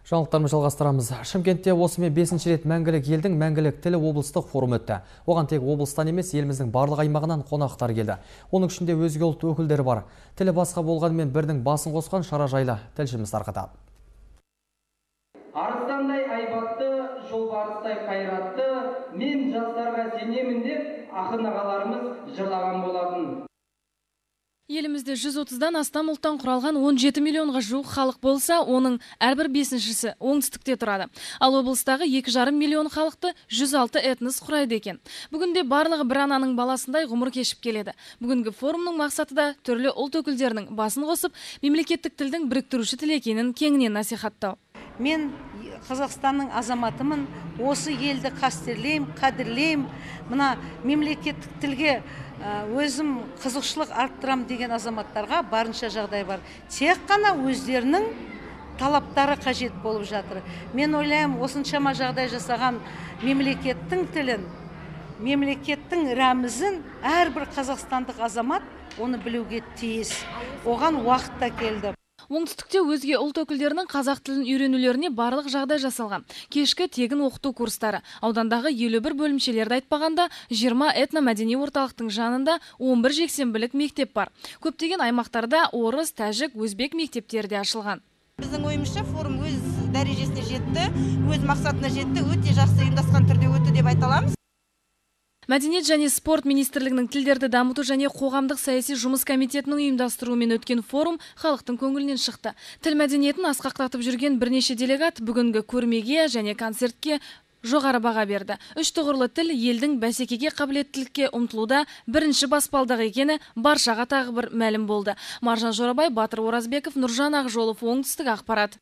Жаңалықтарымызды жалғастырамыз. Шымкентте осымен 5-ші рет мәңгілік елдің мәңгілік тілі облыстық форум өтті. Оған тек облыстан емес, еліміздің барлық аймағынан қонақтар келді. Оның ішінде өзге ұлт өкілдері бар. Тілі басқа болғанымен бірдің басын қосқан шара жайлы тілшіміз тарқатады. Арыстандай айбатты, жолбарыстай қайратты, мен жастарға сенемін деп ақын ағаларымыз жырлаған болатын. Елімізде 130-дан астам ұлттан құралған 17 миллионға жуық халық болса, оның әрбір 5-шісі оңтүстікте тұрады. Ал облыстағы 2,5 миллион халықты 106 этнос құрайды екен. Бүгінде барлығы бір ананың баласындай ғұмыр кешіп келеді. Бүгінгі форумның мақсаты да түрлі ұлт өкілдерінің басын қосып, мемлекеттік тілдің біріктіруші тіл екенін кеңінен насихаттау. Мен Қазақстанның азаматымын, осы елді қадірлеймін, мына мемлекеттік тілге өзім қызықшылық арттырам деген азаматтарға барынша жағдай бар. Тек қана өздерінің талаптары қажет болып жатыр. Мен ойлаймын, осыншама жағдай жасаған мемлекеттің тілін, мемлекеттің рәмізін әрбір қазақстандық азамат оны білуге тиіс. Оған уақыт та келді. Оңтүстікте өзге ұлт өкілдерінің қазақ тілін үйренулеріне барлық жағдай жасалған. Кешкі тегін оқыту курстары. Аудандағы 51 бөлімшелерді айтпағанда 20 этномәдени орталықтың жанында 11 жексенбілік мектеп бар. Көптеген аймақтарда орыс, тәжік, өзбек мектептері де ашылған. Біздің ойымызша форум өз дәрежесіне жетті, өз мақсатына жетті, өте жақсы ұйымдасқан түрде өтті деп айта аламыз. Мәдениет және спорт министрлігінің тілдерді дамыту және қоғамдық саяси жұмыс комитетінің ұйымдастыруымен өткен форум халықтың көңілінен шықты. Тіл мәдениетін асқақтатып жүрген бірнеше делегат бүгінгі көрмеге және концертке жоғары баға берді. Үш тұғырлы тіл елдің бәсекеге қабілеттілікке ұмтылуда бірінші баспалдақ екені баршаға тағы бір мәлім болды. Маржан Жорабай, Батыр Оразбеков, Нұржан Ақжолов, Оңтүстік ақпарат.